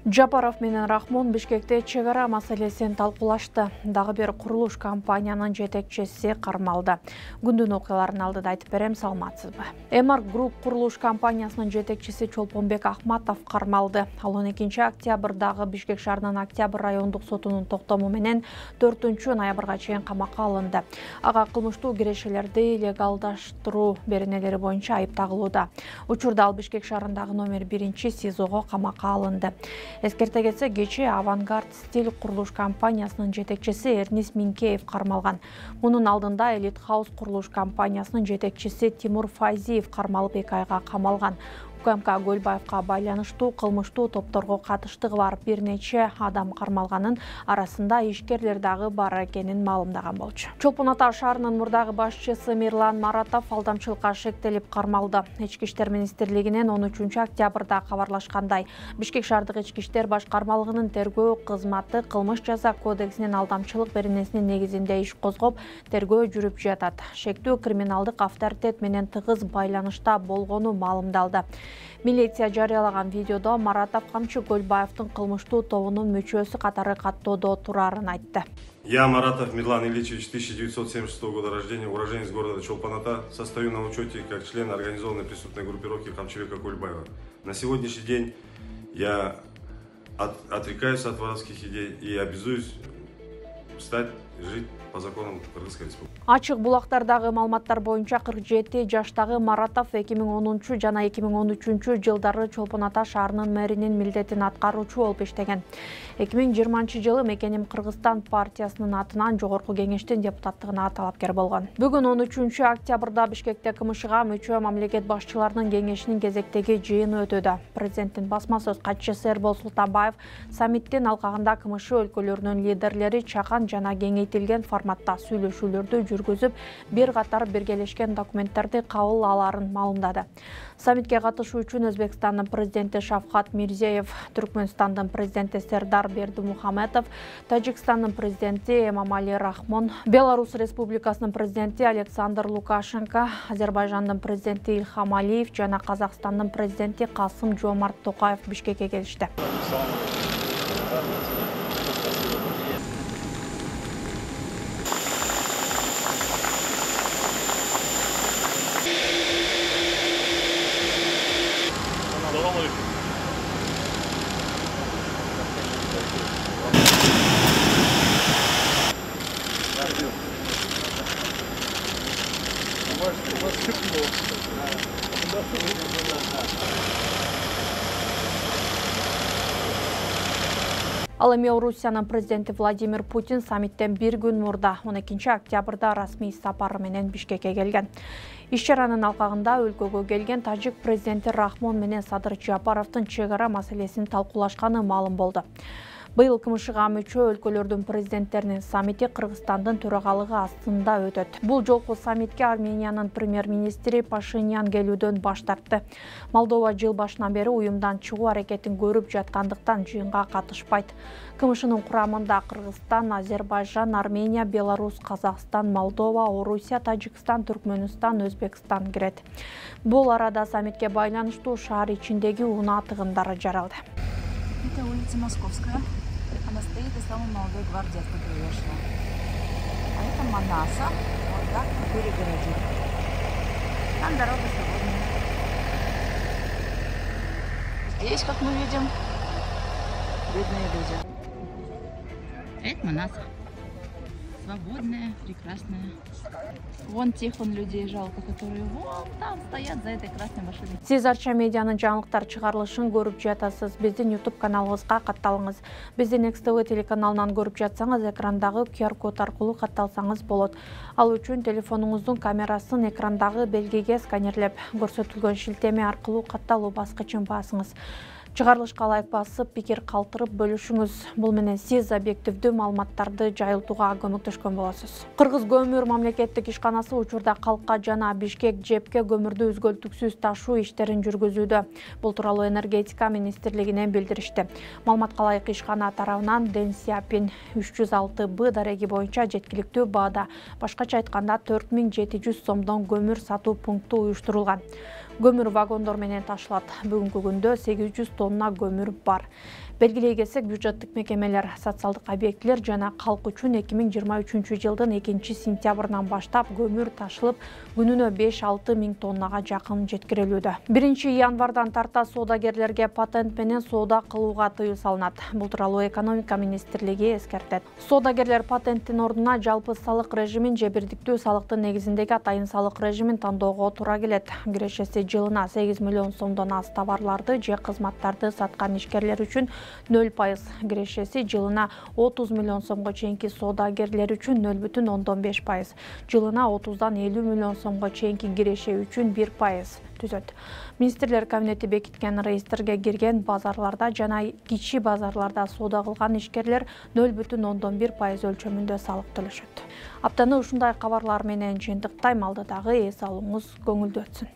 Жапаров менен Рахмон Бишкекте чек ара маселесин талкуулашты. Дагы бир курулуш компаниянын жетекчиси кармалды. Күндүн окуяларын алдыда айтып берем, саламатсызбы? Эмарк Груп курулуш компаниясынын жетекчиси Чолпонбек Ахматов кармалды. Ал 12 октябрдагы Бишкек шаарынын Октябрь райондук сотунун токтому менен 4 ноябрга чейин камакка алынды. Ага кылмыштуу кирешелерди легалдаштыруу беренелери боюнча айып тагылууда. Учурда ал Бишкек шаарындагы номер 1 СИЗОго камакка алынды. Эскерте кетсе, кечээ Авангард стиль курулуш компаниясынын жетекчиси Эрнис Минкеев кармалган. Мунун алдында Элит Хаус курулуш компаниясынын жетекчиси Тимур Файзиев кармалып 2 айга камалган. УКМК Көлбаевка байланыштуу кылмыштуу топторго катыштыгы бар бир нече адам кармалганын, арасында ишкерлер дагы бар экенин маалымдаган болчу. Чолпон Ата шаарынын мурдагы башчысы Мирлан Маратов алдамчылыкка шектелип кармалды. Ички иштер министрлигинен 13 октябрда кабарлашкандай, Бишкек шаардык ички иштер башкармалыгынын тергөө кызматы кылмыш жаза кодексинин алдамчылык беренесинин негизинде иш козгоп, тергөө жүрүп жатат. Шектүү криминалдык авторитет менен тыгыз байланышта болгону маалымдалды. Милиция жарыялаган видеодо Маратов камчы Көлбаевдин кылмыштуу тобунун мүчөсү катары каттоодо турарын айтты. Я, Маратов Мирлан Ильичевич, 1976 года рождения, уроженец города Чолпон Ата, состою на учете как член организованной преступной группировки Камчыбека Кульбаева. На сегодняшний день я отрекаюсь от воровских идей и обязуюсь стать, жить по законам Кыргызской республики. Ачык булактардагы маалыматтар боюнча 47 жаштагы Маратов 2010 жана 2013 жылдары Чолпон Ата шаарынын мэринин милдетин аткаруучу болуп иштеген. 2020 жылы Мекеним Кыргызстан партиясынын атынан Жогорку кеңештин депутаттыгына талапкер болгон. Бүгүн 13 октябрда Бишкекте КМШга мүчө мамлекет башчыларынын кеңешинин кезектеги жыйыны өтүүдө. Президенттин басма сөз катчысы Эрбол Султанбаев саммиттин алкагында КМШ өлкөлөрүнүн лидерлери чакан жана кеңейтилген форматта сүйлөшүүлөрдү жүргүзүп, бир катар биргелешкен документтерди кабыл аларын маалымдады. Саммитке катышуу үчүн Өзбекстандын президенти Шавкат Мирзиёев, Түркмөнстандын президенти Сердар Бердимухамедов, Тажикстандын президенти Эмомали Рахмон, Беларусь Республикасынын президенти Александр Лукашенко, Азербайжандын президенти Ильхам Алиев жана Казакстандын президенти Касым Жомарт Токаев Бишкекке келишти. Ал эми Орусиянын президенти Владимир Путин саммиттен бир күн мурда 12 октябрда расмий сапары менен Бишкекке келген. Иш чаранын алкагында өлкөгө келген тажик президенти Рахмон менен Садыр Жапаровдун чек ара маселесин талкуулашканы маалым болду. Быйыл КМШга мүчө өлкөлөрдүн президенттеринин саммити Кыргызстандын төрагалыгы астында өтөт. Бул жолку саммитке Армениянын премьер-министри Пашинян келүүдөн баш тартты. Молдова жыл башынан бери уюмдан чыгуу аракетин көрүп жаткандыктан жыйынга катышпайт. КМШнын курамында Кыргызстан, Азербайжан, Армения, Беларусь, Казакстан, Молдова, Орусия, Тажикстан, Түркмөнстан, Өзбекстан кирет. Бул арада саммитке байланыштуу шаар ичиндеги унаа тыгындары жаралды. Это улица Московская. Она стоит из самой молодой гвардии, откуда я шла. А это Манаса. Вот так перегородили. Там дорога свободная. Здесь, как мы видим, бедные люди. Это Манаса. Свободная, прекрасная. Вон тех людей жалко, которые вон там стоят за этой красной машиной. Сиз Арча медианын жаңылыктар чыгарылышын көрүп жатасыз. Биздин YouTube каналыбызга катталыңыз. Биздин XTV телеканалынан көрүп жатсаңыз, экрандагы QR код аркылуу катталсаңыз болот. Ал үчүн телефонуңуздун камерасын экрандагы белгиге сканерлеп, көрсөтүлгөн шилтеме аркылуу катталуу баскычын басыңыз. Чыгарылышка лайк басып, пикир калтырып бөлүшүңүз. Бул менен сиз объективдүү маалыматтарды жайылтууга көмөктөшкөн болосуз. Кыргыз көмүр мамлекеттик ишканасы учурда калкка жана Бишкек ЖЭПке көмүрдү үзгөлтүксүз ташуу иштерин жүргүзүүдө. Бул тууралуу энергетика министрлигинен билдиришти. Маалыматка ылайык ишкана тарабынан Дэн Сяопин 306Б дареги боюнча жеткиликтүү баада, башкача айтканда 4700 сомдон көмүр сатуу пункту уюштурулган. Көмүр вагондор менен ташылат. Бүгүнкү күндө 800 тонна көмүр бар. Белгилей кетсек, бюджеттик мекемелер, социалдык объектилер жана калк үчүн 2023 жылдын 2-сентябрынан баштап көмүр ташылып, күнүнө 5-6 миң тоннага жакын жеткирилүүдө. 1-январдан тарта соодагерлерге патент менен соода кылууга тыюу салынат. Бул тууралуу экономика министрлиги эскертет. Соодагерлер патенттин ордуна жалпы салык режимин же бирдиктүү салыктын негизиндеги атайын салык режимин тандоого туура келет. Кирешеси жылына 8 миллион сомдон аз товарларды же кызматтарды саткан ишкерлер үчүн 0%, кирешеси жылына 30 миллион сомго чейинки соодагерлер үчүн 0,5%, жылына 30-дан 50 миллион сомго чейинки киреше үчүн 1% түзөт. Министрлер кабинети бекиткен реестрге кирген базарларда жана кичи базарларда соода кылган ишкерлер 0,1% өлчөмүндө салык төлөшөт. Аптаны ушундай кабарлар менен жыйынтыктайм. Алдыдагы эс алууңуз көңүлдүү өтсүн.